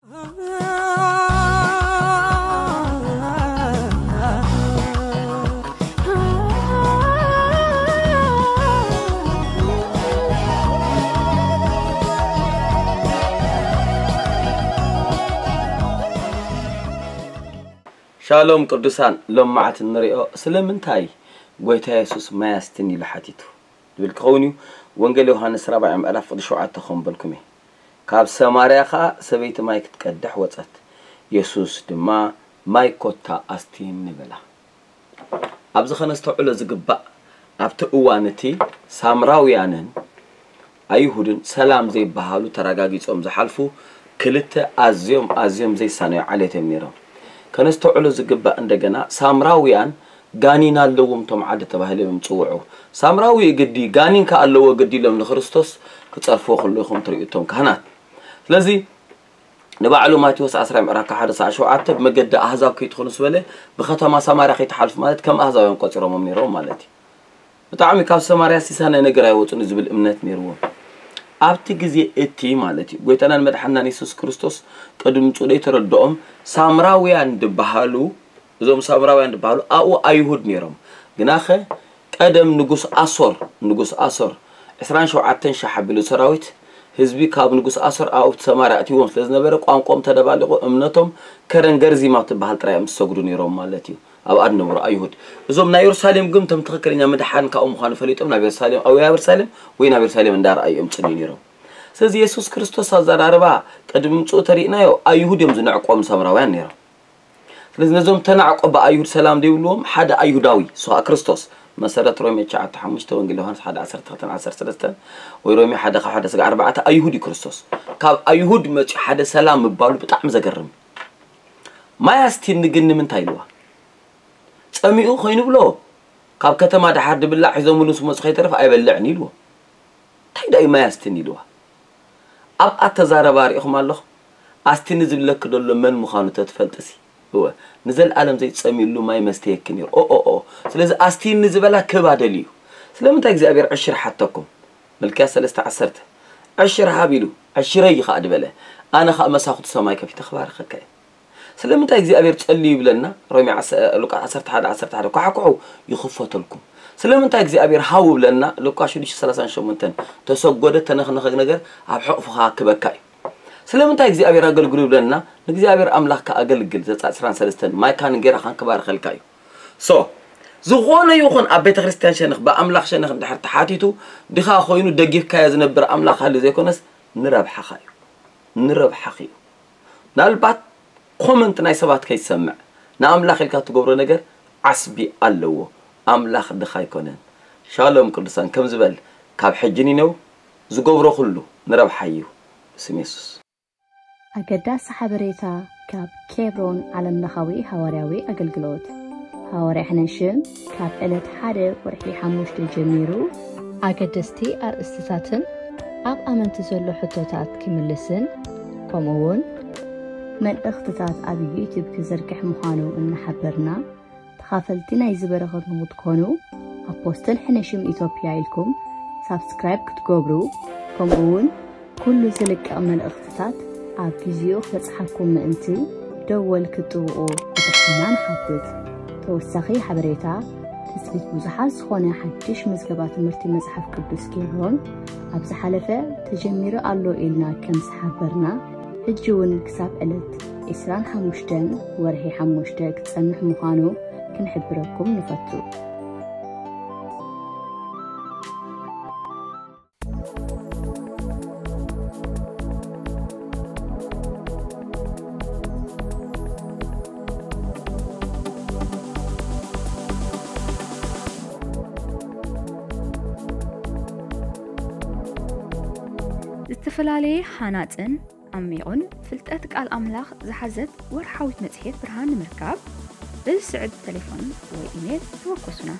ሻሎም ቅዱሳን፣ ሎማዓት እንሪኦ ስለምንታይ ጎይታ የሱስ ማይ ኣስትን ኢሉ ሓቲቱ ዝብል ክኸውን እዩ። ወንጌል ዮሃንስ ራብዓይ ምዕራፍ ቅዲ ሸውዓተ ከም በልኩም እየ። ካብ ሰማርያ ኸኣ ሰበይቲ ማይ ክትቀድሕ ወጸት። የሱስ ድማ ማይ ኮታ ኣስትን ንበላ። ኣብዚ ከነስተውዕሎ ዝግባእ ኣብቲ እዋን እቲ ሳምራውያንን ኣይሁድን ሰላም ዘይበሃሉ ተረጋጊጾም ዝሓልፉ ክልተ ኣዝዮም ኣዝዮም ዘይሳነዩ ዓሌት እዮም ነይሮም። ከነስተውዕሎ ዝግባእ እንደገና ሳምራውያን ጋኒን ኣለዎም እቶም ዓዲ ተባሂሎም እዮም ዝጽውዑ። ሳምራዊ ግዲ ጋኒን ከኣ ኣለዎ ግዲ ኢሎም ንክርስቶስ ክጸርፍዎ ከለዉ ኢኹም ትርእዩ እቶም ካህናት። ስለዚ ንባዕሉ ማቴዎስ ዓስራ ምዕራፍ ሓደ ሰዓት ሸውዓተ ብመገዲ ኣህዛብ ከይትኾኑ ዝበለ ብከተማ ሰማርያ ከይትሓልፉ ማለት ከም ኣህዛውያን ቆጺሮሞም ነይሮም ማለት እዩ። ብጣዕሚ ካብ ሰማርያ ሲሳናይ ነገር ኣይወፁን ዝብል እምነት ነይርዎም ኣብቲ ግዜ እቲ ማለት እዩ። ጎይታናን መድሓናን የሱስ ክርስቶስ ቅድሚ ምፅኡ ተረድኦም ሳምራውያን ድበሃሉ እዞም ሳምራውያን ድበሃሉ ኣብኡ ኣይሁድ ነይሮም። ግናኸ ቀደም ንጉስ ኣሶር ንጉስ ኣሶር ዕስራን ሸውዓተን ሻሕ ኣቢሉ ሰራዊት ህዝቢ ካብ ንጉስ ኣሶር ኣብቲ ሰማርያ ኣእትዎም ስለ ዝነበረ ቋንቋኦም ተደባሊቑ እምነቶም ከረን ገርዚም ኣብ ትበሃል ጥራይ እዮም ዝሰግዱ ነይሮም ማለት እዩ። ኣብኣ ዝነበሩ ኣይሁድ እዞም ናይ የሩሳሌም ግን እቶም ትኽክለኛ ምድሓን ካብኡ ምዃኑ ፈሊጦም ናብ የሩሳሌም ኣብ የሩሳሌም ወይ ናብ የሩሳሌም እንዳረኣዩ እዮም ፅልዩ ነይሮም። ስለዚ የሱስ ክርስቶስ ኣዘራርባ ቅድሚ ምፅኡ ተሪእናዮ ኣይሁድ እዮም ዝንዕቆም ሳምራውያን ነይሮም። ስለዚ ነዞም ተናዕቆ ብኣይሁድ ሰላም ዘይብልዎም ሓደ ኣይሁዳዊ ስዋ ክርስቶስ መሰረት ሮሜ ትሽዓተ ሓሙሽተ ወንጌል ዮሃንስ ሓደ ዓሰርተ ክልተ ዓሰርተ ሰለስተ ወይ ሮሜ ሓደ ካብ ሓደ ስጋ ኣርባዕተ ኣይሁድ እዩ ክርስቶስ። ካብ ኣይሁድ መፂኡ ሓደ ሰላም ምባሉ ብጣዕሚ ዘገርም። ማይ ኣስቲኒ ግን ንምንታይ ኢልዋ? ጸሚኡ ኮይኑ ብሎ ካብ ከተማ ደሓር ድብላዕ ሒዞምሉ ምስ መፁ ከይተረፍ ኣይበልዕን ኢልዎ። እንታይ ዳዩ ማይ ኣስቲኒ ኢልዋ? ኣብ ኣተዛረባ ርኢኹም ኣለኹም? ኣስቲኒ ዝብለኪ ዘሎ መን ምዃኑ ተትፈልጥሲ እወ ንዘለኣለም ዘይትጸምይሉ ማይ መስተየኪ ነይሩ ኦኦኦ። ስለዚ ኣስቲኒ ዝበላ ክህባ ደልዩ እዩ። ስለምንታይ እግዚኣብሔር ዕሽር ሓተኩም? መልክያስ ሰለስተ ዓሰርተ ዕሽር ሃብ ኢሉ ዕሽረይ ከዓ ድበለ። ኣነ ከዓ መሳኹቲ ሰማይ ከፊተ ክባርኸካ እየ። ስለምንታይ እግዚኣብሔር ጸልዩ ይብለና? ሮሜ ሉቃስ ዓሰርተ ሓደ ዓሰርተ ሓደ ኳሕኩሑ ይኽፈተልኩም። ስለምንታይ እግዚኣብሔር ሃቡ ብለና? ሉቃስ ሽዱሽተ ሰላሳን ሸሞንተን ተሰጎደ ተነኽነኸ ነገር ኣብ ሕቕፍኻ ክበካ እዩ። ስለምንታይ እግዚኣብሔር ኣገልግሉ ይብለና? ንእግዚኣብሔር ኣምላኽካ ኣገልግል ዘጻ ዕስራን ሰለስተን ማይካን እንጌራኻን ክባርኸልካ እዩ። ሶ ዝኾነ ይኹን ኣብ ቤተ ክርስቲያን ሸንኽ ብኣምላኽ ሸንኽ እንድሕር ተሓቲቱ ድኻ ኮይኑ ደጊፍካዮ ዝነብር ኣምላኽ ሃሊ ዘይኮነስ ንረብሓኻ እዩ። ንረብሓኺ እዩ። ምናልባት ኮመንት ናይ ሰባት ከይትሰምዕ ንኣምላኽ ኢልካ ትገብሮ ነገር ዓስቢ ኣለዎ። ኣምላኽ ድኻ ኣይኮነን። ሻሎም ቅዱሳን ከም ዝበል ካብ ሕጂ ኒነው ዝገብሮ ኩሉ ንረብሓይ እዩ። ብስም የሱስ። ኣገዳሲ ሓበሬታ ካብ ኬብሮን ዓለምለኻዊ ሃዋርያዊ ኣገልግሎት። ሃዋርያ ሕነሽም ካብ ዕለት ሓደ ወርሒ ሓሙሽተ ጀሚሩ ኣገደስቲ ኣርእስትታትን ኣብ ኣመንቲ ዘሎ ሕቶታት ክምልስን ከምኡ እውን መልእኽትታት ኣብ ዩቲዩብ ክዝርግሕ ምዃኑ እናሓበርና ተኻፈልቲ ናይዚ በረኸት ንክትኮኑ ኣፖስትል ሕነሽም ኢትዮጵያ ኢልኩም ሳብስክራይብ ክትገብሩ ከምኡ እውን ኩሉ ዝልቀቕ መልእኽትታት ኣብ ግዚኡ ክበጽሓኩም ምእንቲ ደወል ክትጥውቑ ብትሕትና ንሓትት። ተወሳኺ ሓበሬታ ትጽቢት ብዙሓት ዝኾነ ሓድሽ ምዝገባ ትምህርቲ መጽሓፍ ቅዱስ ኬብሮን ኣብ ዝሓለፈ ተጀሚሩ ኣሎ ኢልና ከም ዝሓበርና ሕጂ እውን ክሳብ ዕለት ዕስራን ሓሙሽተን ወርሒ ሓሙሽተ ክጸንሕ ምዃኑ ክንሕብረኩም ንፈቱ። ዝተፈላለየ ሃናጽን ዓሚቑን ፍልጠት ቃል ኣምላኽ ዝሓዘት ወርሓዊት መጽሔት ብርሃን ንምርካብ፣ ብዝስዕብ ተሌፎን ወይ ኢሜል ተወከሱና።